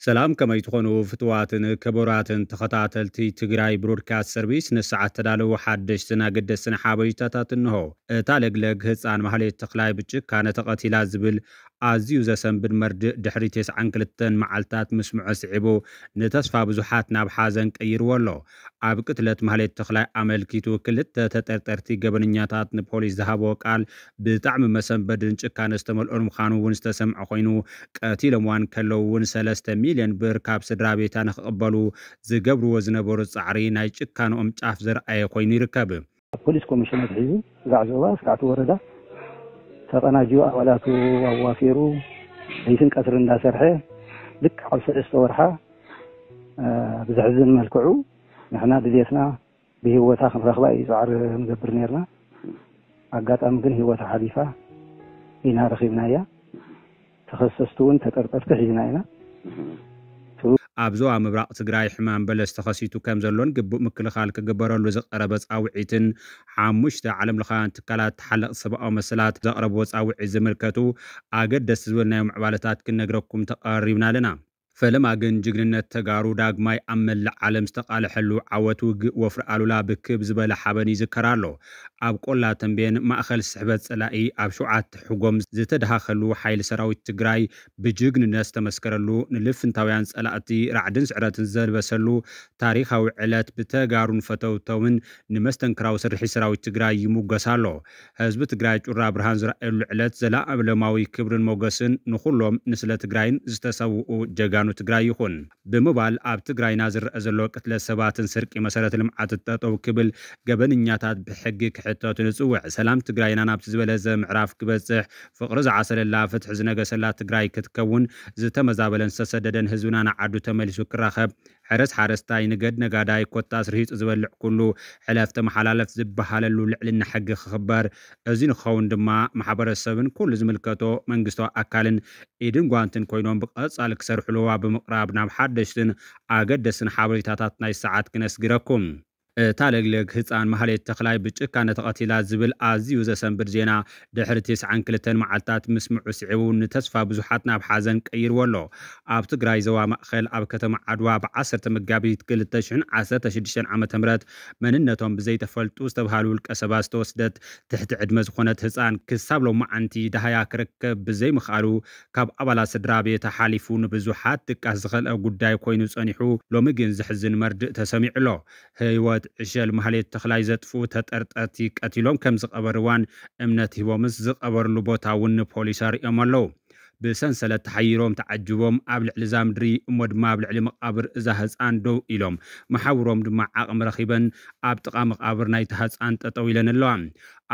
ሰላም፣ ከመይ ትኾኑ ፍትዋትን ክቡራትን ተኸታተልቲ ትግራይ ብሮድካስት ሰርቪስ? ንሰዓት ተዳለዉ ሓደሽትን ኣገደስትን ሓበሬታታት እንሆ። እታ ለግለግ ህፃን ማህሌት ተኽላይ ብጭካነ ተቐቲላ ዝብል ኣዝዩ ዘሰንብድ መርድእ ድሕሪ ተስዓን ክልተን መዓልታት ምስምዖ ስዒቡ፣ ንተስፋ ብዙሓት ናብ ሓዘን ቀይርዎ ኣሎ። ኣብ ቅትለት ማህሌት ተኽላይ ኣመልኪቱ ክልተ ተጠርጠርቲ ገበነኛታት ንፖሊስ ዝሃብዎ ቃል ብጣዕሚ መሰንበድን ጭካነ ዝተመልኦን ምዃኑ እውን ዝተሰምዐ ኮይኑ፣ ቀቲሎምዋን ከለዉ እውን ሰለስተ ሚልዮን ብር ካብ ስድራ ቤታ ንክቕበሉ ዝገብርዎ ዝነበሩ ጻዕሪ ናይ ጭካንኦም ጫፍ ዘርኣየ ኮይኑ ይርከብ። ኣብ ፖሊስ ኮሚሽን ኣትሒዙ ስጋዕ ዞባ፣ ስጋዕ እቲ ወረዳ ተቐናጅዩ ኣባላቱ ኣዋፊሩ ለይትን ቀትሪ እንዳሰርሐ ልክዕ ኣብ ሰለስተ ወርሓ፣ እ፣ ብዘሕዝን መልክዑ ንሕና ድልየትና ብህይወታ ክንረኽባ እዩ ጻዕሪ ንገብር ነርና። ኣጋጣሚ ግን ህይወታ ሓሊፋ ኢና ረኺብናያ። ተኸሰስቲ እውን ተጠርጠርቲ ሒዝና ኢና። ኣብ ዞባ ምብራቕ ትግራይ ሕማም በለስ ተኸሲቱ ከም ዘሎን ግቡእ ምክልኻል ክግበረሉ ዝቐረበ ጻውዒትን ሓሙሽተ ዓለም ለኻውያን ትካላት ተሓለቕቲ ሰብኣዊ መሰላት ዘቕረብዎ ጻውዒት ዝምልከቱ ኣገደስቲ ዝበልናዮ ምዕባለታት ክንነግረኩም ተቐሪብና ኣለና። ፈለማ ግን ጅግንነት ተጋሩ ዳግማይ ኣብ መላእ ዓለም ዝተቓለሐሉ ዓወት ውግእ ወፍሪ ኣሉላ ብክብ ዝበለ ሓበን ይዝከር ኣሎ። ኣብ ቆላ ተንቤን ማእኸል ስሕበት ጸላኢ ኣብ ሸውዓተ ሕጎም ዝተደሃኸሉ ሓይሊ ሰራዊት ትግራይ ብጅግንነት ዝተመስከረሉ፣ ንልፍንታውያን ጸላእቲ ራዕድን ስዕረትን ዘልበሰሉ ታሪኻዊ ዕለት ብተጋሩን ፈተውተውን ንመስተንክራዊ ስርሒት ሰራዊት ትግራይ ይሙገስ ኣሎ። ህዝቢ ትግራይ ጩራ ብርሃን ዝረኣየሉ ዕለት ዘላኣለማዊ ክብርን ሞገስን ንኹሎም ንስለ ትግራይን ዝተሰውኡ ጀጋኑ ትግራይ ይኹን ብምባል ኣብ ትግራይና ዝረአ ዘሎ ቅትለት ሰባትን ስርቂ መሰረተ ልምዓት ጠጠው ክብል፣ ገበንኛታት ብሕጊ ክሕተቱ ንጽውዕ። ሰላም ትግራይና ናብቲ ዝበለጸ ምዕራፍ ክበጽሕ፣ ፍቕሪ ዝዓሰለላ፣ ፍትሒ ዝነገሰላ ትግራይ ክትከውን፣ ዝተመዛበለን ዝተሰደደን ህዝብና ንዓዱ ተመሊሱ ክራኸብ፣ ሕረስ ሓረስታይ፣ ንገድ ነጋዳይ፣ ኮታስ ርሂጹ ዝበልዕ ኩሉ ሕለፍ ተመሓላለፍ ዝበሃለሉ ልዕልና ሕጊ ክኽበር፣ እዚ ንክኸውን ድማ ማሕበረሰብን ኩሉ ዝምልከቶ መንግስታዊ ኣካልን ኢድን ጓንትን ኮይኖም ብቐጻሊ ክሰርሕሉ ኣብ ምቕራብ ናብ ሓደሽትን ኣገደስትን ሓበሬታታት ናይ ሰዓት ክነስግረኩም። እታ ለግለግ ህፃን ማህሌት ተኽላይ ብጭካነ ተቐቲላ ዝብል ኣዝዩ ዘሰንብድ ዜና ድሕሪ ተስዓን ክልተን መዓልታት ምስምዑ ስዒቡ ንተስፋ ብዙሓት ናብ ሓዘን ቀይርዎ ኣሎ። ኣብ ትግራይ ዞባ ማእኸል ኣብ ከተማ ዓድዋ ብዓሰርተ መጋቢት ክልተ ሽሕን ዓሰርተ ሽዱሽተን ዓመተ ምህረት መንነቶም ብዘይተፈልጡ ዝተብሃሉ ውልቀ ሰባት ዝተወስደት ትሕቲ ዕድመ ዝኾነት ህፃን ክሳብ ሎማዓንቲ ደሃያ ክረከብ ብዘይምኽኣሉ ካብ ኣባላት ስድራ ቤታ ሓሊፉ ንብዙሓት ድቃስ ዝኸልአ ጉዳይ ኮይኑ ጸኒሑ፣ ሎሚ ግን ዘሕዝን መርድእ ተሰሚዑ ኣሎ። ህይወት ዕሸል ማህሌት ተኽላይ ዘጥፍኡ ተጠርጠርቲ ቀቲሎም ከም ዝቐበርዋን እምነት ሂቦምስ ዝቐበርሉ ቦታ እውን ንፖሊስ ኣርእዮም ኣለዉ። ብሰንሰለት ተሓይሮም ተዓጅቦም ኣብ ልዕሊ እዛ ምድሪ እሞ ድማ ኣብ ልዕሊ መቓብር እዛ ህፃን ደው ኢሎም፣ መሓውሮም ድማ ዓቕሚ ረኺበን ኣብ ጥቓ መቓብር ናይታ ህፃን ጠጠው ኢለን ኣለዋ።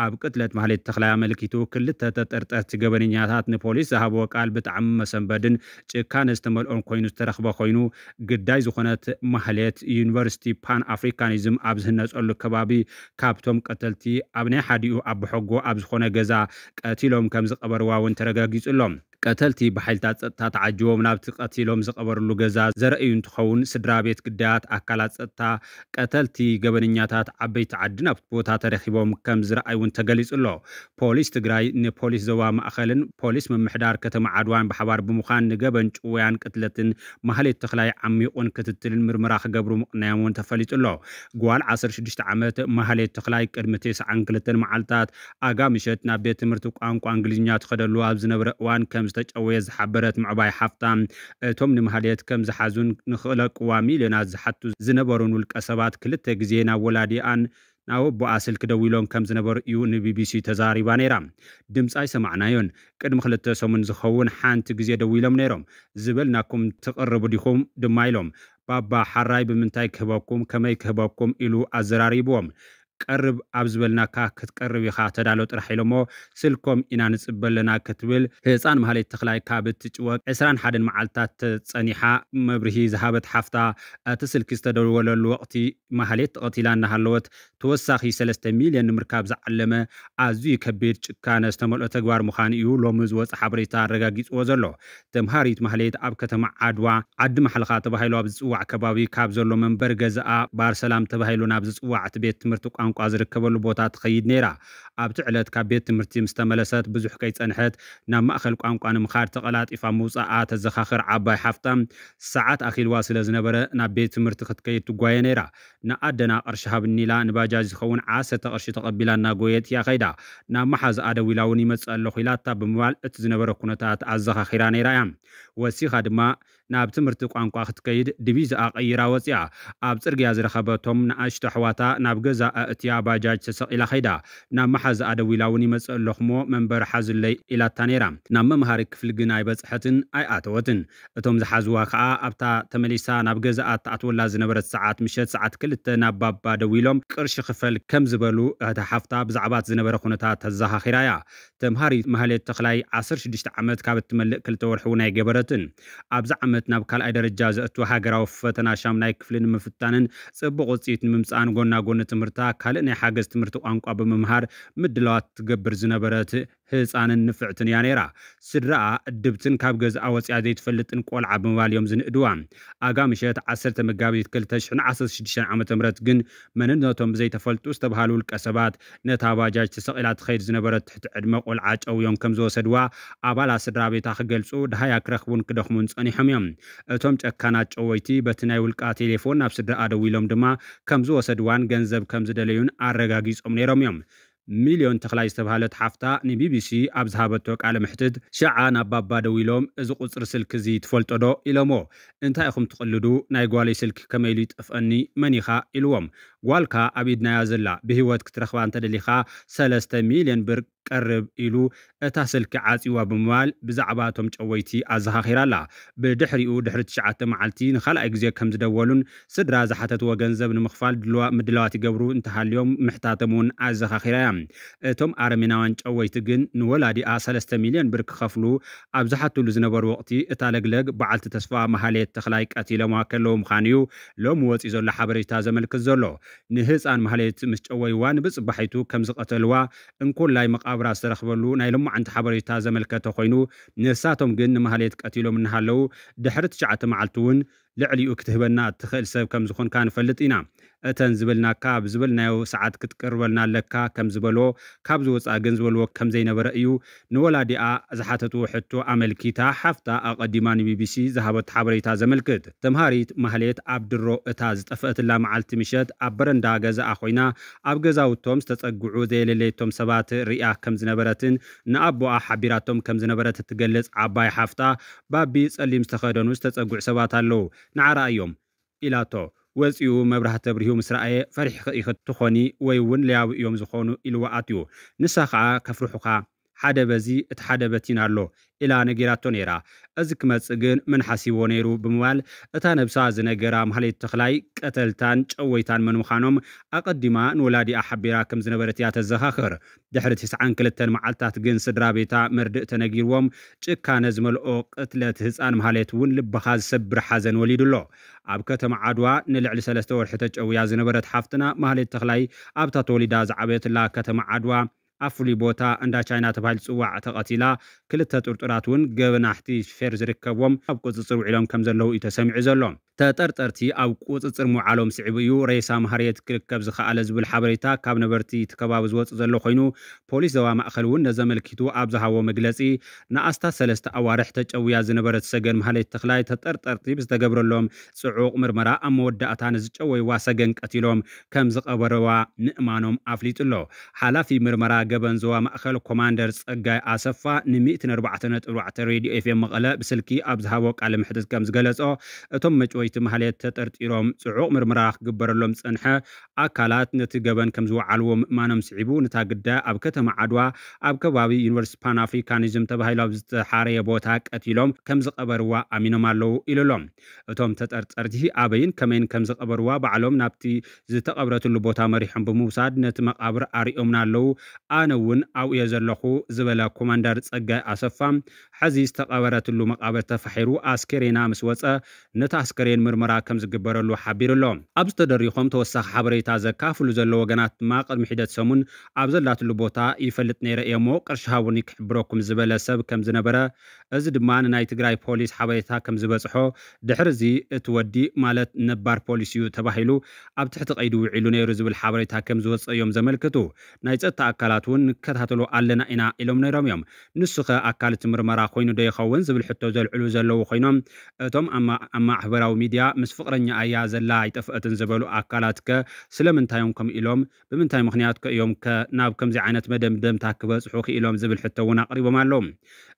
ኣብ ቅትለት ማህሌት ተኽላይ ኣመልኪቱ ክልተ ተጠርጠርቲ ገበነኛታት ንፖሊስ ዝሃብዎ ቃል ብጣዕሚ መሰንበድን ጭካነ ዝተመልኦን ኮይኑ ዝተረኽበ ኮይኑ፣ ግዳይ ዝኾነት ማህሌት ዩኒቨርሲቲ ፓን ኣፍሪካኒዝም ኣብ ዝህነፀሉ ከባቢ ካብቶም ቀተልቲ ኣብ ናይ ሓዲኡ ኣቦሐጎ ኣብ ዝኾነ ገዛ ቀቲሎም ከም ዝቐበርዋ እውን ተረጋጊጹ ኣሎ። ቀተልቲ ብሓይልታት ጸጥታ ተዓጅቦም ናብቲ ቀቲሎም ዝቐበርሉ ገዛ ዘርእዩ እንትኸውን፣ ስድራ ቤት ግዳያት ኣካላት ጸጥታ ቀተልቲ ገበነኛታት ዓበይቲ ዓዲ ናብቲ ቦታ ተረኺቦም ከም ዝረኣዩ እውን ተገሊጹ ኣሎ። ፖሊስ ትግራይ ንፖሊስ ዞባ ማእኸልን ፖሊስ ምምሕዳር ከተማ ዓድዋን ብሓባር ብምዃን ንገበን ጭውያን ቅትለትን ማህሌት ተኽላይ ዓሚቑን ክትትልን ምርመራ ክገብሩ ምቕናዮም እውን ተፈሊጡ ኣሎ። ጓል ዓሰርተ ሽዱሽተ ዓመት ማህሌት ተኽላይ ቅድሚ ተስዓን ክልተን መዓልታት ኣጋ ምሸት ናብ ቤት ትምህርቲ ቋንቋ እንግሊዝኛ ትኸደሉ ኣብ ዝነበረ እዋን ከም ዝተጨወየ ዝሓበረት ምዕባይ ሓፍታ፣ እቶም ንማህሌት ከም ዝሓዙን ንኽለቅዋ ሚልዮናት ዝሓቱ ዝነበሩን ውልቀ ሰባት ክልተ ግዜ ናብ ወላዲኣን ናብ ኣቦኣ ስልኪ ደዊሎም ከም ዝነበሩ እዩ ንቢቢሲ ተዛሪባ ነይራ። ድምፂ ኣይሰማዕናዮን። ቅድሚ ክልተ ሰሙን ዝኸውን ሓንቲ ግዜ ደዊሎም ነይሮም። ዝበልናኩም ትቕርቡ ዲኹም ድማ ኢሎም። ባባ ሓራይ ብምንታይ ክህበኩም፣ ከመይ ክህበኩም ኢሉ ኣዘራሪብዎም። ቀርብ ኣብ ዝበልናካ ክትቀርብ ኢኻ፣ ተዳሎ ጥራሕ ኢሎሞ ስልኮም ኢና ንጽበ ኣለና ክትብል ህፃን ማህሌት ተኽላይ ካብ እትጭወ ዕስራን ሓደን መዓልታት ጸኒሓ መብርሂ ዝሃበት ሓፍታ፣ እቲ ስልኪ ዝተደወለሉ ወቕቲ ማህሌት ተቐቲላ እናሃለወት ተወሳኺ ሰለስተ ሚልዮን ንምርካብ ዝዓለመ ኣዝዩ ከቢድ ጭካነ ዝተመልኦ ተግባር ምዃኑ እዩ ሎሚ ዝወፀ ሓበሬታ ኣረጋጊፅዎ ዘሎ። ተምሃሪት ማህሌት ኣብ ከተማ ዓድዋ ዓዲ ማሕልኻ ተባሂሉ ኣብ ዝፅዋዕ ከባቢ ካብ ዘሎ መንበሪ ገዛኣ ባር ሰላም ተባሂሉ ናብ ዝፅዋዕ እቲ ቤት ትምህርቲ ቋንቋ ቋንቋ ዝርከበሉ ቦታ ትኸይድ ነይራ። ኣብቲ ዕለት ካብ ቤት ትምህርቲ ምስ ተመለሰት ብዙሕ ከይጸንሐት ናብ ማእከል ቋንቋ ንምኻድ ተቐላጢፋ ምውጻኣ ተዘኻኽር ዓባይ ሓፍታ፣ ሰዓት ኣኺልዋ ስለ ዝነበረ ናብ ቤት ትምህርቲ ክትከይድ ትጓየ ነይራ። ንኣደና ቅርሺ ሃብኒ ኢላ ንባጃጅ ዝኸውን ዓሰርተ ቅርሺ ተቐቢላ እናጎየት እያ ከይዳ። ናብ መሓዝኣ ደዊላ እውን ይመጽእ ኣለኹ ኢላታ ብምባል እቲ ዝነበረ ኩነታት ኣዘኻኺራ ነይራ እያ። ወሲኻ ድማ ናብ ትምህርቲ ቋንቋ ክትከይድ ዲቪዛኣ ቀይራ ወፂኣ። ኣብ ፅርግያ ዝረኸበቶም ንኣሽቱ ኣሕዋታ ናብ ገዛ ኣእትያ ባጃጅ ተሰቒላ ከይዳ። ናብ መሓዝኣ ደዊላ እውን ይመፅእ ኣለኹ እሞ መንበር ሓዙለይ ኢላታ ነይራ። ናብ መምሃሪ ክፍሊ ግን ኣይበፅሐትን ኣይኣተወትን። እቶም ዝሓዝዋ ከዓ ኣብታ ተመሊሳ ናብ ገዛኣ ትኣትወላ ዝነበረት ሰዓት ምሸት ሰዓት ክልተ ናብ ባባ ደዊሎም ቅርሺ ክፈል ከም ዝበሉ እታ ሓፍታ ብዛዕባ እቲ ዝነበረ ኩነታት ተዘኻኺራ እያ። ተምሃሪት ማህሌት ተኽላይ ዓሰርተ ሽዱሽተ ዓመት ካብ እትመልእ ክልተ ወርሒ እውን ኣይገበረትን። ኣብዚ ዓመት ናብ ካልኣይ ደረጃ ዘእቱ ሃገራዊ ፈተና ሻምናይ ክፍሊ ንምፍታንን ጽቡቕ ውጽኢት ንምምጻእን ጎና ጎኒ ትምህርታ ካልእ ናይ ሓገዝ ትምህርቲ ቋንቋ ብምምሃር ምድላዋት ትገብር ዝነበረት ህጻንን ንፍዕትን እያ ነይራ። ስድራኣ እድብትን ካብ ገዝኣ ወጺኣ ዘይትፈልጥን ቆልዓ ብምባል እዮም ዝንእድዋ። ኣጋ ምሸት ዓሰርተ መጋቢት ክልተ ሽሕን ዓሰርተ ሽዱሽተን ዓመተ ምህረት ግን መንነቶም ብዘይተፈልጡ ዝተባሃሉ ውልቀ ሰባት ነታ ባጃጅ ተሰቒላ ትኸይድ ዝነበረት ትሕቲ ዕድመ ቆልዓ ጨውዮም ከም ዝወሰድዋ ኣባላት ስድራ ቤታ ክገልጹ፣ ደሃያ ክረኽቡን ክደኽሙን ጸኒሖም እዮም። እቶም ጨካናት ጨወይቲ በቲ ናይ ውልቃ ቴሌፎን ናብ ስድራኣ ደዊሎም ድማ ከም ዝወሰድዋን ገንዘብ ከም ዝደለዩን ኣረጋጊጾም ነይሮም እዮም። ሚልዮን ተኽላይ ዝተባህለት ሓፍታ ንቢቢሲ ኣብ ዝሃበቶ ቃለ መሕትት፣ ሸዓ ናብ ባባ ደዊሎም፣ "እዚ ቁጽሪ ስልኪ እዚ ትፈልጦ ዶ?" ኢሎሞ። "እንታይ ኢኹም ትቕልዱ? ናይ ጓለይ ስልኪ ከመይ ኢሉ ይጠፍአኒ? መን ኢኻ?" ኢልዎም። "ጓልካ ኣብ ኢድናያ ዘላ፣ ብህይወት ክትረኽባ እንተደሊኻ ሰለስተ ሚልዮን ብር ቀርብ" ኢሉ እታ ስልኪ ዓጽይዋ ብምባል ብዛዕባ እቶም ጨወይቲ ኣዘኻኺራ ኣላ። ብድሕሪኡ ድሕሪ ትሽዓተ መዓልቲ ንኻልኣይ ግዜ ከም ዝደወሉን ስድራ ዝሓተትዎ ገንዘብ ንምኽፋል ድልዋ-፣ ምድላዋት ይገብሩ እንተሃልዮም ምሕታቶም እውን ኣዘኻኺራ እያ። እቶም ኣረሜናውያን ጨወይቲ ግን ንወላዲኣ ሰለስተ ሚልዮን ብር ክኸፍሉ ኣብ ዝሓትሉ ዝነበሩ ወቕቲ እታ ለግለግ በዓልቲ ተስፋ ማህሌት ተኽላይ ቀቲሎምዋ ከለዉ ምዃኑ እዩ ሎሚ ወፂኡ ዘሎ ሓበሬታ ዘመልክት ዘሎ። ንህፃን ማህሌት ምስ ጨወይዋ ንብፅባሒቱ ከም ዝቐተልዋ እንኮላይ መቓብራ ዝተረኽበሉ ናይ ሎማዓንቲ ሓበሬታ ዘመልከተ ኮይኑ፣ ንሳቶም ግን ንማህሌት ቀቲሎም እናሃለዉ ድሕሪ ትሽዓተ መዓልቲ እውን ልዕሊኡ ክትህበና እትኽእል ሰብ ከም ዝኾንካ ንፈልጥ ኢና። እተን ዝበልናካ ብዝበልናዮ ሰዓት ክትቅርበልና ኣለካ ከም ዝበልዎ፣ ካብ ዝወፅኣ ግን ዝበልዎ ከም ዘይነበረ እዩ ንወላዲኣ ዝሓተትዎ ሕቶ ኣመልኪታ ሓፍታ ኣቐዲማ ንቢቢሲ ዝሃበቶ ሓበሬታ ዘመልክት። ተምሃሪት ማህሌት ኣብ ድሮ እታ ዝጠፍአትላ መዓልቲ ምሸት ኣብ በረንዳ ገዛኣ ኮይና ኣብ ገዛውቶም ዝተጸግዑ ዘየለለየቶም ሰባት ሪኣ ከም ዝነበረትን ንኣቦኣ ሓቢራቶም ከም ዝነበረት እትገልጽ ዓባይ ሓፍታ፣ "ባቢ፣ ጸሊም ዝተኸደኑ ዝተጸግዑ ሰባት ኣለዉ፣ ንዓ ርኣዮም" ኢላቶ። ወጺኡ መብራህቲ ኣብሪሁ ምስ ረኣየ፣ "ፈሪሕኺ ኢኺ ትኾኒ ወይ እውን ለያቡ እዮም ዝኾኑ" ኢልዋ ኣትዩ። ንሳ ኸኣ፣ "ከፍርሑኻ፣ ሓደ በዚ እቲ ሓደ በቲና ኣሎ" ኢላ ነጊራቶ ነይራ። "እዚ ክመጽእ ግን መን ሓሲብዎ ነይሩ?" ብምባል እታ ነብሳ ዝነገራ ማህሌት ተኽላይ ቀተልታን ጨወይታን መን ምዃኖም ኣቐዲማ ንወላዲኣ ሓቢራ ከም ዝነበረት እያ ተዘኻኽር። ድሕሪ ትስዓን ክልተን መዓልታት ግን ስድራ ቤታ መርድእ ተነጊርዎም ጭካነ ዝመልኦ ቅትለት ህፃን ማህሌት እውን ልብኻ ዝሰብር ሓዘን ወሊዱ ኣሎ። ኣብ ከተማ ዓድዋ ንልዕሊ ሰለስተ ወርሒ ተጨውያ ዝነበረት ሓፍትና ማህሌት ተኽላይ ኣብታ ተወሊዳ ዝዓበየትላ ከተማ ዓድዋ ኣብ ፍሉይ ቦታ እንዳ ቻይና ተባሂሉ ዝፅዋዕ ተቐቲላ፣ ክልተ ጥርጡራት እውን ገበናሕቲ ፌር ዝርከብዎም ኣብ ቁፅፅር ውዒሎም ከም ዘለዉ እዩ ተሰሚዑ ዘሎ። ተጠርጠርቲ ኣብ ቁፅፅር ምውዓሎም ስዒቡ እዩ ሬሳ ማህሌት ክርከብ ዝኸኣለ ዝብል ሓበሬታ ካብ ነበርቲ እቲ ከባቢ ዝወፅእ ዘሎ ኮይኑ፣ ፖሊስ ዞባ ማእኸል እውን ነዚ ኣመልኪቱ ኣብ ዝሃቦ መግለፂ፣ ንኣስታት ሰለስተ ኣዋርሕ ተጨውያ ዝነበረት ሰገን ማህሌት ተኽላይ ተጠርጠርቲ ብዝተገብረሎም ፅዑቕ ምርመራ ኣብ መወዳእታ ንዝጨወይዋ ሰገን ቀቲሎም ከም ዝቐበርዋ ምእማኖም ኣፍሊጡ ኣሎ። ሓላፊ ምርመራ ገበን ዞባ ማእኸል ኮማንደር ጸጋይ ኣሰፋ ን ሚእትን ኣርባዕተን ነጥቢ ኣርባዕተ ሬድዮ ኤፍኤም መቐለ ብስልኪ ኣብ ዝሃቦ ቃለ መሕትት ከም ዝገለጾ፣ እቶም መጭወይቲ ማህሌት ተጠርጢሮም ጽዑቕ ምርመራ ክግበረሎም ዝጸንሐ ኣካላት ነቲ ገበን ከም ዝወዓልዎ ምእማኖም ስዒቡ፣ ነታ ግዳይ ኣብ ከተማ ዓድዋ ኣብ ከባቢ ዩኒቨርሲቲ ፓን ኣፍሪካኒዝም ተባሂሉ ኣብ ዝተሓረየ ቦታ ቀቲሎም ከም ዝቐበርዋ ኣሚኖም ኣለዉ ኢሉ ኣሎ። እቶም ተጠርጠርቲ ኣበይን ከመይን ከም ዝቐበርዋ ባዕሎም ናብቲ ዝተቐብረትሉ ቦታ መሪሖም ብምውሳድ ነቲ መቓብር ኣርእዮምና ኣለዉ። ኣነ እውን ኣብኡ እየ ዘለኹ ዝበለ ኮማንደር ጸጋይ ኣሰፋ፣ ሕዚ ዝተቐበረትሉ መቓብር ተፋሒሩ ኣስከሬና ምስ ወጸ ነቲ ኣስከሬን ምርመራ ከም ዝግበረሉ ሓቢሩ ኣሎ። ኣብዚ ተደሪኾም ተወሳኺ ሓበሬታ ዘካፍሉ ዘለዉ ወገናት ድማ ቅድሚ ሒደት ሰሙን ኣብ ዘላትሉ ቦታ ይፈልጥ ነይረ እየ እሞ ቅርሺ ሃቡኒ ክሕብረኩም ዝበለ ሰብ ከም ዝነበረ እዚ ድማ ንናይ ትግራይ ፖሊስ ሓበሬታ ከም ዝበፅሖ፣ ድሕሪ እዚ እቲ ወዲ ማለት ነባር ፖሊስ እዩ ተባሂሉ ኣብ ትሕቲ ቀይዲ ውዒሉ ነይሩ ዝብል ሓበሬታ ከም ዝወፀ እዮም ዘመልክቱ። ናይ ፀጥታ ኣካላት እውን ንከታተሎ ኣለና ኢና ኢሎም ነይሮም እዮም። ንሱ ኸ ኣካል እቲ ምርመራ ኮይኑ ዶ ይኸውን ዝብል ሕቶ ዘልዕሉ ዘለዉ ኮይኖም፣ እቶም ኣብ ማ- ኣብ ማሕበራዊ ሚድያ ምስ ፍቕረኛ እያ ዘላ ኣይጠፍአትን ዝበሉ ኣካላት ከ ስለምንታይ እዮም ከምኡ ኢሎም? ብምንታይ ምኽንያት ከ እዮም ከ ናብ ከምዚ ዓይነት መደምደምታ ክበፅሑ ክኢሎም ዝብል ሕቶ እውን ኣቕሪቦም ኣለዉ።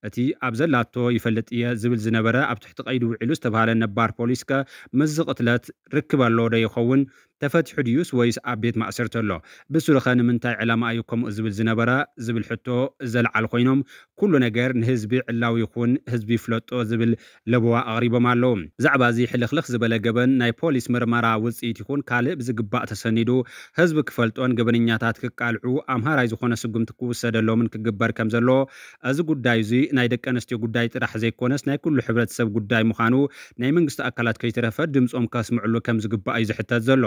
እቲ ኣብ ዘላቶ ይፈልጥ እየ ዝብል ዝነበረ ኣብ ትሕቲ ቀይዲ ውዒሉ ዝተባሃለ ነባር ፖሊስ ከ ምስዚ ቅትለት ርክብ ኣለዎ ዶ ይኸውን? ተፈቲሑ ድዩስ ወይስ ኣብ ቤት ማእሰርቲ ኣሎ? ብስሩ ኸ ንምንታይ ዕላማ እዩ ከምኡ ዝብል ዝነበረ ዝብል ሕቶ ዘልዓሉ ኮይኖም፣ ኩሉ ነገር ንህዝቢ ዕላዊ ይኹን ህዝቢ ይፍለጦ ዝብል ለበዋ ኣቕሪቦም ኣለዉ። ብዛዕባ እዚ ሕልኽልኽ ዝበለ ገበን ናይ ፖሊስ ምርመራ ውፅኢት ይኹን ካልእ ብዝግባእ ተሰኒዱ ህዝቢ ክፈልጦን ገበነኛታት ክቃልዑ ኣምሃራይ ዝኾነ ስጉምቲ ክውሰደሎምን ክግበር ከም ዘሎ፣ እዚ ጉዳይ እዚ ናይ ደቂ ኣንስትዮ ጉዳይ ጥራሕ ዘይኮነስ ናይ ኩሉ ሕብረተሰብ ጉዳይ ምዃኑ ናይ መንግስቲ ኣካላት ከይተረፈ ድምፆም ከስምዕሉ ከም ዝግባእ እዩ ዝሕተት ዘሎ።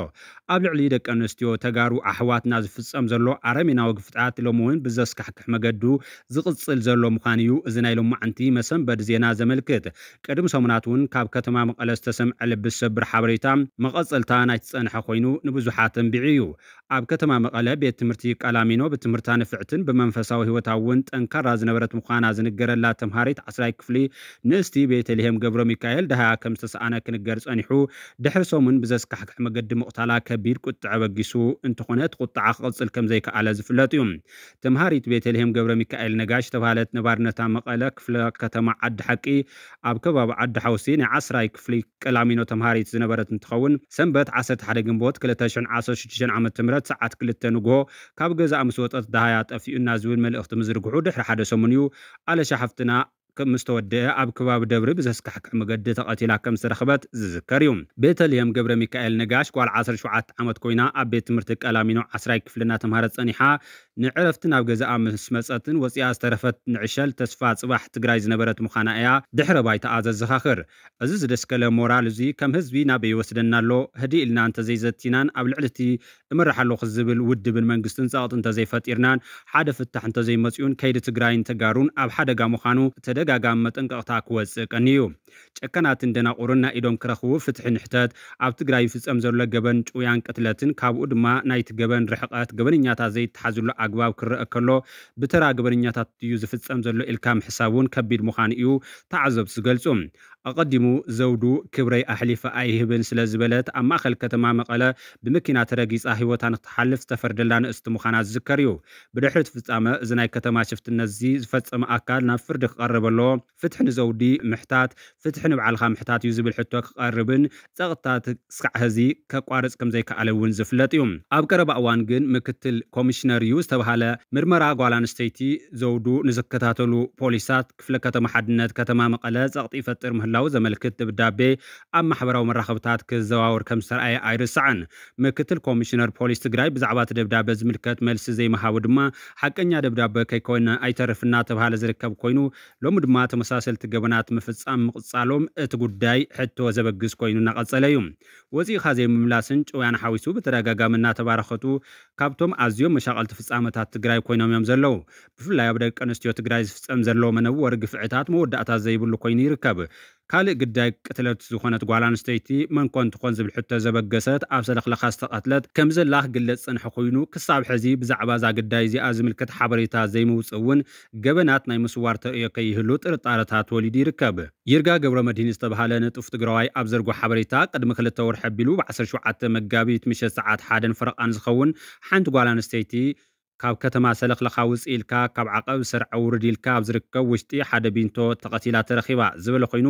ኣብ ልዕሊ ደቂ ኣንስትዮ ተጋሩ ኣሕዋትና ዝፍፀም ዘሎ ኣረሜናዊ ግፍዓት ሎሚ እውን ብዘስካሕክሕ መገዱ ዝቕፅል ዘሎ ምዃኑ እዩ እዚ ናይ ሎማዓንቲ መሰንበዲ ዜና ዘመልክት። ቅድሚ ሰሙናት እውን ካብ ከተማ መቐለ ዝተሰምዐ ልቢ ዝሰብር ሓበሬታ መቐፀልታ ናይቲ ዝፀንሐ ኮይኑ ንብዙሓት ተንቢዑ እዩ። ኣብ ከተማ መቐለ ቤት ትምህርቲ ቀላሚኖ ብትምህርታ ንፍዕትን ብመንፈሳዊ ህይወታ እውን ጠንካራ ዝነበረት ምዃና ዝንገረላ ተምሃሪት ዓስራይ ክፍሊ ንእስቲ ቤተልሔም ገብረ ሚካኤል ደሃያ ከም ዝተሰኣነ ክንገር ጸኒሑ፣ ድሕሪ ሰሙን ብዘስካሕክሕ መገዲ ምቕታላ ከቢድ ቁጥዐ በጊሱ እንተኾነ እቲ ቁጥዓ ክቕጽል ከም ዘይከኣለ ዝፍለጥ እዩ። ተምሃሪት ቤተልሔም ገብረ ሚካኤል ነጋሽ ዝተባህለት ነባርነታ መቐለ ክፍለ ከተማ ዓዲ ሓቂ ኣብ ከባቢ ዓዲ ሓውሲ ናይ ዓስራይ ክፍሊ ቀላሚኖ ተምሃሪት ዝነበረት እንትኸውን፣ ሰንበት ዓሰርተ ሓደ ግንቦት ክልተ ሽሕን ዓሰርተ ሽዱሽተን ዓመተ ምህረት ሰዓት ክልተ ንግሆ ካብ ገዛኣ ምስ ወጸት ደሃያ ጠፊኡና ዝብል መልእኽቲ ምዝርግሑ ድሕሪ ሓደ ሰሙን እዩ ኣለሻ ሓፍትና ከም ምስ ተወደአ ኣብ ከባቢ ደብሪ ብዘስካሕክሕ መገዲ ተቐቲላ ከም ዝተረኽበት ዝዝከር እዩ። ቤተልሔም ገብረ ሚካኤል ነጋሽ ጓል ዓሰርተ ሸውዓተ ዓመት ኮይና ኣብ ቤት ትምህርቲ ቀላሚኖ ዓስራይ ክፍሊ እናተምሃረት ጸኒሓ ንዕረፍቲ ናብ ገዛኣ ምስ መጸትን ወጺኣ ዝተረፈት ንዕሸል ተስፋ ጽባሕ ትግራይ ዝነበረት ምዃና እያ ድሕረ ባይታኣ ዘዘኻኽር። እዚ ዝደስከለ ሞራል እዚ ከም ህዝቢ ናበይ ይወስደና ኣሎ? ህድእ ኢልና እንተዘይዘቲናን ኣብ ልዕሊ እቲ እመርሕ ኣለኹ ዝብል ውድብን መንግስትን ጸቕጢ እንተዘይፈጢርናን ሓደ ፍታሕ እንተዘይመጺኡን ከይዲ ትግራይን ተጋሩን ኣብ ሓደጋ ምዃኑ ተደጋጋሚ መጠንቀቕታ ክወጽእ ቀንዩ እዩ። ጨካናትን ደናቑርን ናይ ኢዶም ክረኽቡ ፍትሒ ንሕተት። ኣብ ትግራይ ይፍጸም ዘሎ ገበን ጭውያን ቅትለትን ካብኡ ድማ ናይቲ ገበን ርሕቐት ገበነኛታት ዘይተሓዝሉ ኣግባብ ክረአ ከሎ ብተራ ገበነኛታት እዩ ዝፍጸም ዘሎ ኢልካ ምሕሳብ እውን ከቢድ ምዃኑ እዩ ተዓዘብቲ ዝገልጹ። ኣቐዲሙ ዘውዱ ክብረይ ኣሕሊፈ ኣይህብን ስለ ዝበለት ኣብ ማእኸል ከተማ መቐለ ብመኪና ተረጊጻ ህይወታ ንክትሓልፍ ዝተፈርደላ ንእስቲ ምዃና ዝዝከር እዩ። ብድሕሪ እቲ ፍጻመ እዚ ናይ ከተማ ሽፍትነት እዚ ዝፈጸመ ኣካል ናብ ፍርዲ ክቐርብ ኣለዎ። ፍትሒ ንዘውዲ ምሕታት ፍትሒ ንባዕልኻ ምሕታት እዩ ዝብል ሕቶ ክቐርብን ጸቕጥታት ስካዕ ሕዚ ከቋርጽ ከም ዘይከኣለ እውን ዝፍለጥ እዩ። ኣብ ቀረባ እዋን ግን ምክትል ኮሚሽነር እዩ ዝተባሃለ ምርመራ ጓል ኣንስተይቲ ዘውዱ ንዝከታተሉ ፖሊሳት ክፍለ ከተማ ሓድነት ከተማ መቐለ ጸቕጢ ይፈጥር ምህላው ዘመልክት ደብዳቤ ኣብ ማሕበራዊ መራኸብታት ክዘዋወር ከም ዝተረኣየ ኣይርሳዕን። ምክትል ኮሚሽነር ፖሊስ ትግራይ ብዛዕባ እቲ ደብዳቤ ዝምልከት መልሲ ዘይምሃቡ ድማ ሓቀኛ ደብዳቤ ከይኮነ ኣይተርፍ እናተባሃለ ዝርከብ ኮይኑ ሎሚ ድማ ተመሳሰልቲ ገበናት ምፍጻም ምቕጻሎም እቲ ጉዳይ ሕቶ ዘበግስ ኮይኑ እናቐጸለ እዩ። ወጺእኻ ዘይምምላስን ጭውያን ሓዊሱ ብተደጋጋሚ እናተባረኸቱ ካብቶም ኣዝዮም መሻቐልቲ ፍጻመታት ትግራይ ኮይኖም እዮም ዘለዉ። ብፍላይ ኣብ ደቂ ኣንስትዮ ትግራይ ዝፍጸም ዘሎ መነወሪ ግፍዕታት መወዳእታ ዘይብሉ ኮይኑ ይርከብ። ካልእ ግዳይ ቅትለት ዝኾነት ጓል ኣንስተይቲ መን ኮን ትኾን ዝብል ሕቶ ዘበገሰት ኣብ ሰለኽለኻ ዝተቐትለት ከም ዘላ ክግለጽ ዝጸንሐ ኮይኑ ክሳብ ሕዚ ብዛዕባ እዛ ግዳይ እዚኣ ዝምልከት ሓበሬታ ዘይምውጽእ እውን ገበናት ናይ ምስዋር ተርእዮ ከይህሉ ጥርጣረታት ወሊዱ ይርከብ። ይርጋ ገብረ መድህን ዝተባሃለ ንጡፍ ትግራዋይ ኣብ ዘርጎ ሓበሬታ ቅድሚ ክልተ ወርሒ ኣቢሉ ብ ዓሰርተ ሸውዓተ መጋቢት ምሸት ሰዓት ሓደን ፈረቓን ዝኸውን ሓንቲ ጓል ኣንስተይቲ ካብ ከተማ ሰለኽለኻ ውፅእ ኢልካ ካብ ዓቐብ ሰርዐ ውርድ ኢልካ ኣብ ዝርከብ ውሽጢ ሓደ ቢንቶ ተቐቲላ ተረኺባ ዝበለ ኮይኑ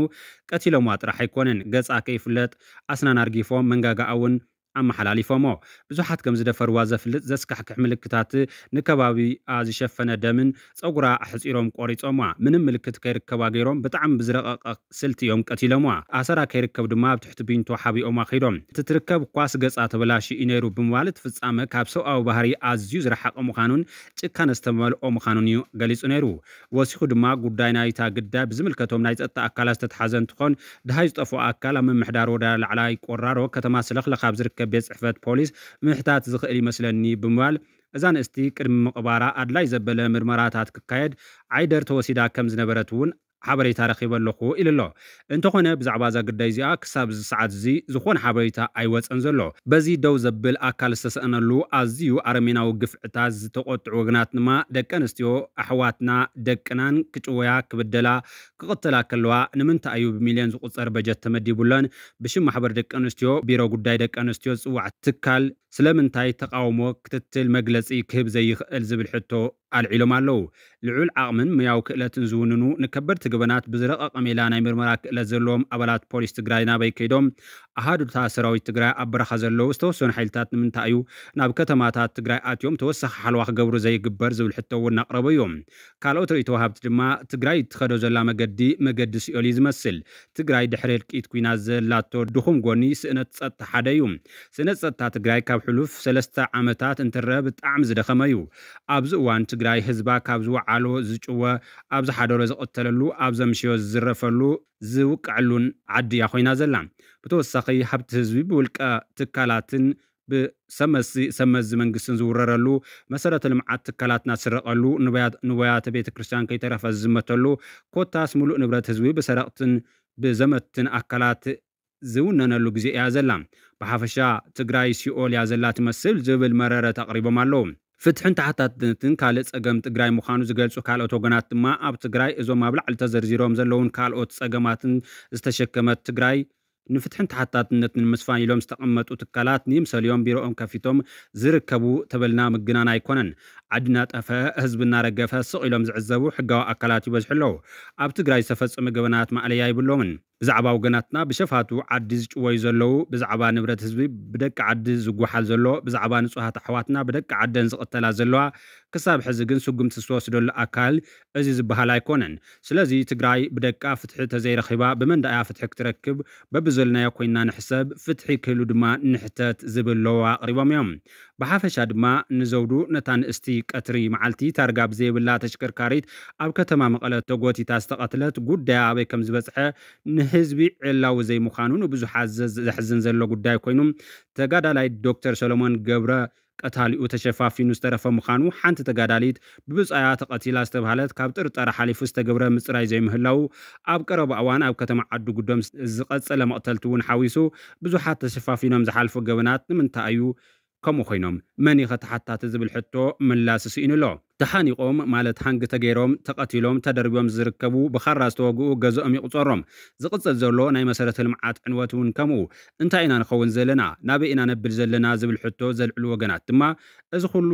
ቀቲሎምዋ ጥራሕ ኣይኮነን ገፃ ከይፍለጥ ኣስናን ኣርጊፎም መንጋጋኣ እውን ኣመሓላሊፎሞ። ብዙሓት ከም ዝደፈርዋ ዘፍልጥ ዘስካሕክሕ ምልክታት ንከባቢኣ ዝሸፈነ ደምን ፀጉራ ኣሕፂሮም ቆሪፆማ ምንም ምልክት ከይርከባ ገይሮም ብጣዕሚ ብዝረቐቐ ስልቲ እዮም ቀቲሎምዋ። ኣሰራ ከይርከብ ድማ ኣብ ትሕቲ ቢንቶ ሓቢኦማ ከይዶም። እቲ ትርከብ እኳስ ገፃ ተበላሽዩ እዩ ነይሩ ብምባል እቲ ፍፃመ ካብ ሰብኣዊ ባህሪ ኣዝዩ ዝረሓቐ ምዃኑን ጭካነ ዝተመልኦ ምዃኑን እዩ ገሊፁ ነይሩ። ወሲኹ ድማ ጉዳይ ናይታ ግዳይ ብዝምልከቶም ናይ ፀጥታ ኣካላት ዝተትሓዘ እንትኾን ድሃይ ዝጠፍኦ ኣካል ኣብ ምምሕዳር ወረዳ ላዕላይ ቆራሮ ከተማ ሰለኽለኻ ኣብ ዝርከብ ቤት ፅሕፈት ፖሊስ ምሕታት ዝኽእል ይመስለኒ ብምባል እዛ ንእስቲ ቅድሚ ምቕባራ ኣድላይ ዘበለ ምርመራታት ክካየድ ዓይደር ተወሲዳ ከም ዝነበረት እውን ሓበሬታ ረኺበ ኣለኹ ኢሉ ኣሎ። እንተኾነ ብዛዕባ እዛ ግዳይ እዚኣ ክሳብ እዚ ሰዓት እዚ ዝኾነ ሓበሬታ ኣይወፀን ዘሎ። በዚ ደው ዘብል ኣካል ዝተሰእነሉ ኣዝዩ ኣረሜናዊ ግፍዕታት ዝተቆጥዑ ወገናት ድማ ደቂ ኣንስትዮ ኣሕዋትና ደቅናን ክጭወያ ክብደላ ክቕተላ ከለዋ ንምንታይ እዩ ብሚልዮን ዝቑፀር በጀት ተመዲቡለን ብሽም ማሕበር ደቂ ኣንስትዮ ቢሮ ጉዳይ ደቂ ኣንስትዮ ዝፅዋዕ ትካል ስለምንታይ ተቃውሞ ክትትል መግለፂ ክህብ ዘይኽእል ዝብል ሕቶ ኣልዒሎም ኣለዉ። ልዑል ዓቕምን ሙያዊ ክእለትን ዝውንኑ ንከበድቲ ገበናት ብዝረቐቐ ሜላ ናይ ምርመራ ክእለት ዘለዎም ኣባላት ፖሊስ ትግራይ ናበይ ከይዶም? ኣሃዱታት ሰራዊት ትግራይ ኣብ በረኻ ዘለዉ ዝተወሰኑ ሓይልታት ንምንታይ እዩ ናብ ከተማታት ትግራይ ኣትዮም ተወሳኺ ሓለዋ ክገብሩ ዘይግበር ዝብል ሕቶ እውን እናቕረቡ እዮም። ካልኦት ርእይቶ ወሃብቲ ድማ ትግራይ እትኸዶ ዘላ መገዲ መገዲ ሲኦል እዩ ዝመስል። ትግራይ ድሕሪ ህልቂት ኩናት ዘላቶ ድኹም ጎኒ ስእነት ጸጥታ ሓደ እዩ። ስእነት ጸጥታ ትግራይ ካብ ሕሉፍ ሰለስተ ዓመታት እንትረአ ብጣዕሚ ዝደኸመ እዩ። ኣብዚ እዋን ትግራይ ህዝባ ካብ ዝወዓሎ ዝጭወ፣ ኣብ ዝሓደሮ ዝቕተለሉ፣ ኣብ ዘምሸዮ ዝዝረፈሉ፣ ዝውቀዐሉን ዓዲ እያ ኮይና ዘላ። ብተወሳኺ ሃብቲ ህዝቢ ብውልቀ ትካላትን ብሰመዚ ሰመዚ መንግስትን ዝውረረሉ፣ መሰረተ ልምዓት ትካላትና ዝስረቐሉ፣ ንዋያት- ንዋያተ ቤተ ክርስቲያን ከይተረፈ ዝዝመተሉ፣ ኮታስ ሙሉእ ንብረት ህዝቢ ብሰረቕትን ብዘመትን ኣካላት ዝውነነሉ ግዜ እያ ዘላ። ብሓፈሻ ትግራይ ሲኦል እያ ዘላ ትመስል ዝብል መረረት ኣቕሪቦም ኣለዉ። ፍትሕን ተሓታትነትን ካልእ ጸገም ትግራይ ምዃኑ ዝገልጹ ካልኦት ወገናት ድማ ኣብ ትግራይ እዞም ኣብ ላዕሊ ተዘርዚሮም ዘለውን ካልኦት ጸገማትን ዝተሸከመት ትግራይ ንፍትሕን ተሓታትነትን ንምስፋን ኢሎም ዝተቐመጡ ትካላት ንይምሰልዮም ቢሮኦም ከፊቶም ዝርከቡ ተበልና ምግናን ኣይኮነን። ዓዲ እናጠፈ ህዝቢ እናረገፈ ስቕ ኢሎም ዝዕዘቡ ሕጋዊ ኣካላት ይበዝሑ ኣለዉ። ኣብ ትግራይ ዝተፈጸመ ገበናት ማእለያ ይብሎምን። ብዛዕባ ወገናትና ብሸፋቱ ዓዲ ዝጭወዩ ዘለዉ፣ ብዛዕባ ንብረት ህዝቢ ብደቂ ዓዲ ዝጓሓል ዘሎ፣ ብዛዕባ ንጹሃት ኣሕዋትና ብደቂ ዓደን ዝቕተላ ዘለዋ፣ ክሳብ ሕዚ ግን ስጉምቲ ዝተወስደሉ ኣካል እዚ ዝበሃል ኣይኮነን። ስለዚ ትግራይ ብደቃ ፍትሒ ተዘይረኺባ ብመን ደኣ እያ ፍትሒ ክትረክብ? በብዘለናዮ ኮይንና ንሕሰብ፣ ፍትሒ ክህሉ ድማ ንሕተት ዝብል ለዋ ኣቕሪቦም እዮም። ብሓፈሻ ድማ ንዘውዱ ነታ ንእስቲ ቀትሪ መዓልቲ ታርጋ ብዘይብላ ተሽከርካሪት ኣብ ከተማ መቐለ ተጎቲታ ዝተቐትለት ጉዳያ ኣበይ ከም ዝበፅሐ ንህዝቢ ዕላዊ ዘይምዃኑ ንብዙሓት ዘ- ዘሕዝን ዘሎ ጉዳይ ኮይኑ ተጋዳላይ ዶክተር ሰሎሞን ገብረ ቀታሊኡ ተሸፋፊኑ ዝተረፈ ምዃኑ ሓንቲ ተጋዳሊት ብብፃያ ተቐቲላ ዝተባህለት ካብ ጥርጠራ ሓሊፉ ዝተገብረ ምፅራይ ዘይምህላው ኣብ ቀረባ እዋን ኣብ ከተማ ዓዲ ጉዶም ዝቐፀለ መቕተልቲ እውን ሓዊሱ ብዙሓት ተሸፋፊኖም ዝሓልፉ ገበናት ንምንታይ እዩ ከምኡ ኮይኖም መን ኢኸ ተሓታቲ ዝብል ሕቶ ምላስ ስኢኑ ኣሎ። ተሓኒቖም ማለት ሃንግ ተገይሮም ተቐቲሎም ተደርቢዮም ዝርከቡ ብኻራ ዝተወግኡ ገዝኦም ይቑፀሮም። ዝቕፅል ዘሎ ናይ መሰረተ ልምዓት ዕንወት እውን ከምኡ። እንታይ ኢና ንኸውን ዘለና? ናበይ ኢና ነብል ዘለና ዝብል ሕቶ ዘልዕሉ ወገናት ድማ እዚ ኩሉ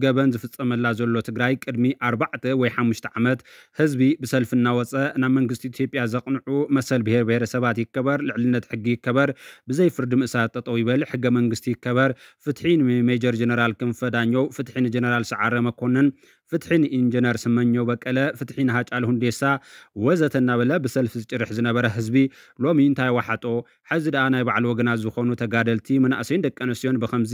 ገበን ዝፍፀመላ ዘሎ ትግራይ ቅድሚ ኣርባዕተ ወይ ሓሙሽተ ዓመት ህዝቢ ብሰልፊ እናወፀ ናብ መንግስቲ ኢትዮጵያ ዘቕንዑ መሰል ብሄር ብሄረሰባት ይከበር፣ ልዕልነት ሕጊ ይከበር፣ ብዘይ ፍርዲ ምእሳር ጠጠው ይበል፣ ሕገ መንግስቲ ይከበር፣ ፍትሒ ንሜጀር ጀነራል ክንፈ ዳኘው፣ ፍትሒ ንጀነራል ሰዓረ መኮንን፣ ፍትሒ ንኢንጀነር ስመኘው በቀለ፣ ፍትሒ ንሃጫሉ ሁንዴሳ ወዘተ እናበለ ብሰልፊ ዝጭርሕ ዝነበረ ህዝቢ ሎሚ እንታይ ዋሓጦ? ሕዚ ደኣ ናይ ባዕሉ ወገናት ዝኾኑ ተጋደልቲ መናእሰይን ደቂ ኣንስትዮን ብኸምዚ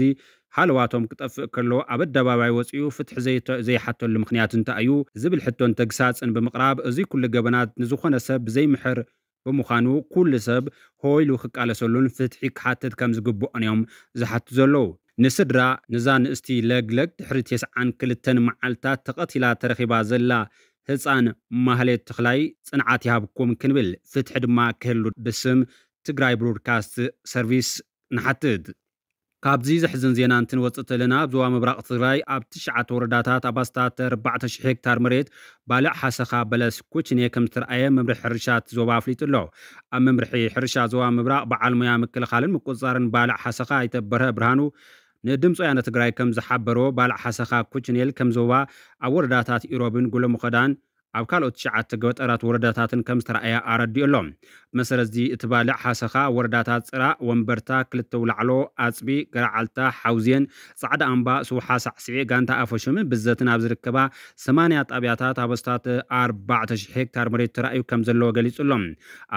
ሃለዋቶም ክጠፍእ ከሎ ኣብ ኣደባባይ ወፂኡ ፍትሒ ዘይተ- ዘይሓተሉ ምኽንያት እንታይ እዩ ዝብል ሕቶን ተግሳፅን ብምቕራብ እዚ ኩሉ ገበናት ንዝኾነ ሰብ ብዘይምሕር ብምዃኑ ኩሉ ሰብ ሆይሉ ክቃለሰሉን ፍትሒ ክሓትት ከም ዝግብኦን እዮም ዝሓቱ ዘለዉ። ንስድራ ንዛ ንእስቲ ለግለግ ድሕሪ ተስዓን ክልተን መዓልታት ተቐቲላ ተረኺባ ዘላ ህፃን ማህሌት ተኽላይ ፅንዓት ይሃብኩም ክንብል ፍትሒ ድማ ክህሉ ብስም ትግራይ ብሮድካስት ሰርቪስ ንሓትት። ካብዚ ዘሕዝን ዜና እንትንወፅእ ተለና ኣብ ዞባ ምብራቕ ትግራይ ኣብ ትሽዓተ ወረዳታት ኣብ ኣስታት ኣርባዕተ ሽሕ ሄክታር መሬት ባልዕ ሓሰኻ በለስ ኩችኔ ከም ዝተረኣየ መምርሒ ሕርሻ እቲ ዞባ ኣፍሊጡ ኣሎ። ኣብ መምርሒ ሕርሻ ዞባ ምብራቕ በዓል ሞያ ምክልኻልን ምቁፅፃርን ባልዕ ሓሰኻ ኣይተ በርሀ ብርሃኑ ንድምፂ ወያነ ትግራይ ከም ዝሓበሮ ባልዕ ሓሰኻ ኩችኔል ከም ዞባ ኣብ ወረዳታት ኢሮብን ጉለምኸዳን ኣብ ካልኦት ትሽዓተ ገጠራት ወረዳታትን ከም ዝተረኣየ ኣረዲኡ ኣሎ። ብመሰረት እዚ እቲ ባልዕ ሓሰኻ ኣብ ወረዳታት ፅራእ፣ ወንበርታ፣ ክልተ ውላዕሎ፣ ኣፅቢ፣ ገረዓልታ፣ ሓውዜን፣ ፃዕዳ ኣምባ፣ ስውሓ ሳዕስዒ፣ ጋንታ ኣፈሹምን ብዘትን ኣብ ዝርከባ ሰማንያ ጣብያታት ኣብ ኣስታት ኣርባዕተ ሽሕ ሄክታር መሬት ተራእዩ ከም ዘለዎ ገሊጹ ኣሎ።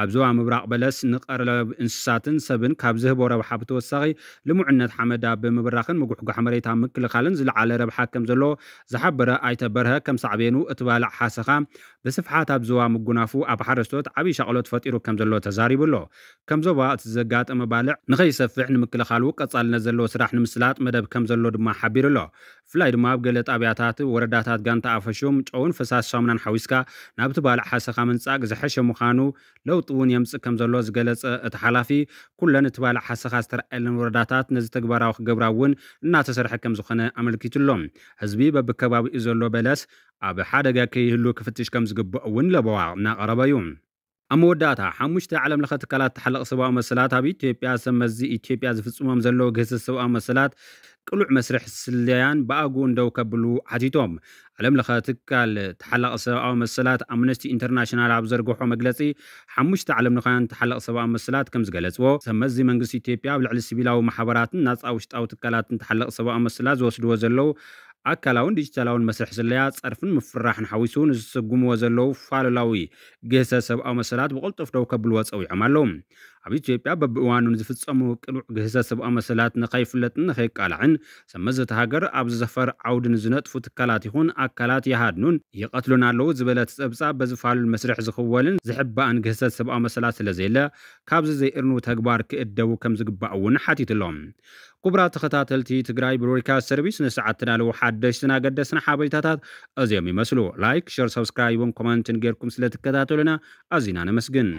ኣብ ዞባ ምብራቕ በለስ ንቐለብ እንስሳትን ሰብን ካብ ዝህቦ ረብሓ ብተወሳኺ ልሙዕነት ሓመድ ኣብ ምብራኽን ምጉሕጓሕ መሬት ኣብ ምክልኻልን ዝለዓለ ረብሓ ከም ዘሎ ዝሓበረ ኣይተ በርሀ ከም ሳዕቤኑ እቲ ባልዕ ሓሰኻ ብስፍሓት ኣብ ዞባ ምጉናፉ ኣብ ሓረስቶት ዓብዪ ሻቕሎት ፈጢሩ ከም ዘሎ ተዛሪቡ ኣሎ። ከም ዞባ እቲ ዘጋጠመ ባልዕ ንኸይሰፍሕ ንምክልኻሉ ቀጻልነት ዘለዎ ስራሕ ንምስላጥ መደብ ከም ዘሎ ድማ ሓቢሩ ኣሎ። ብፍላይ ድማ ኣብ ገለ ጣብያታት ወረዳታት ጋንታ ኣፈሹም ጨውን ፈሳሲ ሳሙናን ሓዊስካ ናብቲ ባልዕ ሓሰኻ ምንጻግ ዝሐሸ ምዃኑ ለውጢ እውን የምጽእ ከም ዘሎ ዝገለጸ እቲ ሓላፊ፣ ኩለን እቲ ባልዕ ሓሰኻ ዝተረኣየለን ወረዳታት ነዚ ተግባራዊ ክገብራ እውን እናተሰርሐ ከም ዝኾነ ኣመልኪቱ ኣሎ። ህዝቢ በብከባቢኡ ዘሎ በለስ ኣብ ሓደጋ ከይህሉ ክፍትሽ ከም ዝግባእ እውን ለበዋ እናቐረበ እዩ። ኣብ መወዳእታ ሓሙሽተ ዓለም ለኸ ትካላት ተሓለቕ ሰብኣዊ መሰላት ኣብ ኢትዮጵያ ሰብ መዚ ኢትዮጵያ ዝፍጽሞም ዘለዉ ግህሰት ሰብኣዊ መሰላት ቅሉዕ መስርሕ ስለያን ብኣግኡ እንደው ከብሉ ሓቲቶም። ዓለም ለኸ ትካል ተሓለቕ ሰብኣዊ መሰላት ኣምነስቲ ኢንተርናሽናል ኣብ ዘርግሖ መግለጺ ሓሙሽተ ዓለም ለኻውያን ተሓለቕ ሰብኣዊ መሰላት ከም ዝገለጽዎ ሰብ መዚ መንግስቲ ኢትዮጵያ ኣብ ልዕሊ ሲቪላዊ ማሕበራትን ናጻ ውሽጣዊ ትካላትን ተሓለቕ ሰብኣዊ መሰላት ዝወስድዎ ዘለዉ ኣካላውን ዲጂታላውን መስርሕ ስለያ ጸርፍን ምፍራሕን ሓዊሱ ንዝስጉምዎ ዘለዉ ፋሉላዊ ግህሰት ሰብኣዊ መሰላት ብቕልጡፍ ደው ከብልዎ ጸዊዖም ኣለዉ። ኣብ ኢትዮጵያ በብእዋኑ ንዝፍጸሙ ቅኑዕ ግህሰት ሰብኣዊ መሰላት ንኸይፍለጥን ንኸይቃላዕን ሰብ መዚ እታ ሃገር ኣብ ዝዘፈር ዓውዲ ንዝነጥፉ ትካላት ይኹን ኣካላት ይሃድኑን ይቐትሉን ኣለዉ ዝበለ እቲ ጸብጻብ በዚ ፋሉል መስርሕ ዝኽወልን ዝሕባእን ግህሰት ሰብኣዊ መሰላት ስለ ዘየለ ካብዚ ዘይእርኑ ተግባር ክእደቡ ከም ዝግባእ እውን ሓቲቱ ኣሎ። ክቡራት ተኸታተልቲ ትግራይ ብሮድካስት ሰርቪስ ንሰዓት ተዳለዉ ሓደሽትን ኣገደስትን ሓበሬታታት እዚኦም ይመስሉ። ላይክ፣ ሸር፣ ሰብስክራይብን ኮመንትን ጌርኩም ስለ ትከታተሉና ኣዚና ነመስግን።